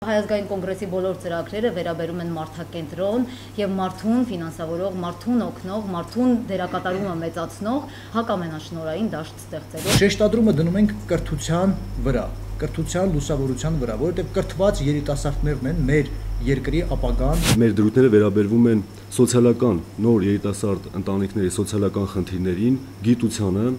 Հայազգային կոնգրեսի բոլոր ծրագրերը վերաբերում են մարդակենտրոն եւ մարդուն ֆինանսավորող, մարդուն օգնող, մարդուն դերակատարումը մեծացնող հակամենաշնորհային դաշտ ստեղծելու։ Շեշտադրումը դնում ենք կրթության վրա, կրթության լուսավորության վրա, որովհետեւ կրթված երիտասարդներն են մեր երկրի ապագան։ Մեր դրույթները վերաբերվում են սոցիալական նոր երիտասարդ ընտանիքների սոցիալական խնդիրներին, գիտությանը,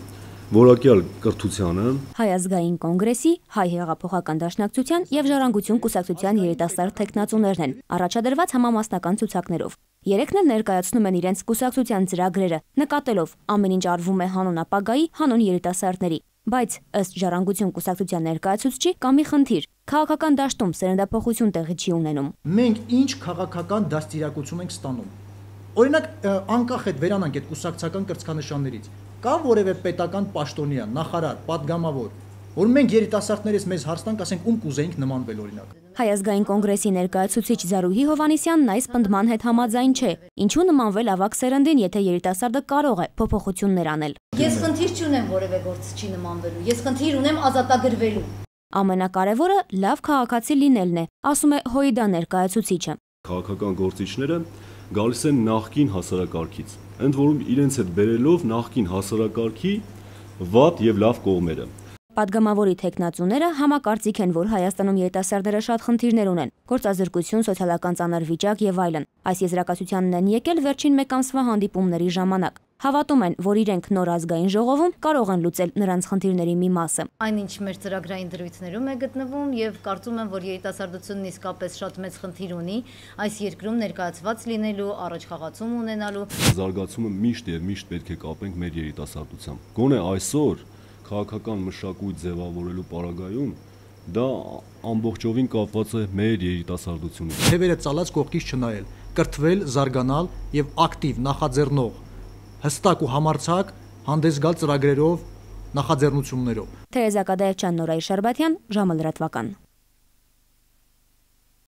որակյալ կրթությանը, Հայազգային կոնգրեսի, Հայ հեղափոխական դաշնակցության եւ Ժառանգություն կուսակցության երիտասարդ տեխնացուներն են առաջադրված համամասնական ցուցակներով։ Երեքն էլ ներկայացնում են իրենց կուսակցության ծրագրերը, նկատելով ամեն ինչ արվում է հանուն ապագայի, հանուն երիտասարդների։ Բայց ըստ Ժառանգություն կուսակցության ներկայացուցչի կա մի խնդիր՝ քաղաքական դաշտում սերնդափոխություն տեղի չի ունենում։ Մենք ինչ քաղաքական դաստիարակություն ենք ստանում։ Օրինակ, անկախ այդ վերանանք այդ կուսակցական կրծքանշաններից, կա որևէ պետական պաշտոնյա, նախարար, падգամավոր, որ մենք երիտասարդներից մեզ հարցնանք, ասենք ում կուզեինք նմանվել օրինակ։ Հայազգային կոնգրեսի ներկայացուցիչ Զարուհի Հովհաննիսյանն այս պնդման հետ համաձայն չէ։ Ինչու նմանվել ավագ սերնդին, եթե երիտասարդը կարող է փոփոխություններ անել։ Ես խնդիր չունեմ որևէ գործչի նմանվելու, ես խնդիր ունեմ ազատագրվելու։ Ամենակարևորը լավ քաղաքացի լինելն է, ասում է ՀՅԴ ներկայացուցիչը։ Քաղաքական գործիչները գալիս են նախկին հասարակարգից, ընդ որում իրենց հետ բերելով նախկին հասարակարգի վատ եւ լավ կողմերը։ Պատգամավորի տեխնացուները համակարծիք են, որ Հայաստանում երիտասարդները շատ խնդիրներ ունեն՝ գործազրկություն, սոցիալական ծանր վիճակ եւ այլն։ Այս եզրակացությանն են եկել վերջին մեկ ամսվա հանդիպումների ժամանակ։ Հավատում են, որ իրենք նոր ազգային ժողովում կարող են լուծել նրանց խնդիրների մի մասը։ Այնինչ մեր ծրագրային դրույթներում է գտնվում եւ կարծում եմ, որ երիտասարդությունն իսկապես շատ մեծ խնդիր ունի այս երկրում ներկայացված լինելու, առաջխաղացում ունենալու։ Զարգացումը միշտ եւ միշտ պետք է կապենք մեր երիտասարդությամբ։ Գոնե այսօր քաղաքական մշակույթ ձևավորելու պարագայում դա ամբողջովին կապված է մեր երիտասարդությունից։ Թևերը ծալած կողքից չնայել, կրթվել, զարգանալ եւ ակտիվ նախաձեռնող, հստակ ու համարձակ հանդես գալ ծրագրերով, նախաձեռնություններով։ Թերեզա Կադայեվչյան, Նորայր Շարբաթյան, ժամը լրատվական։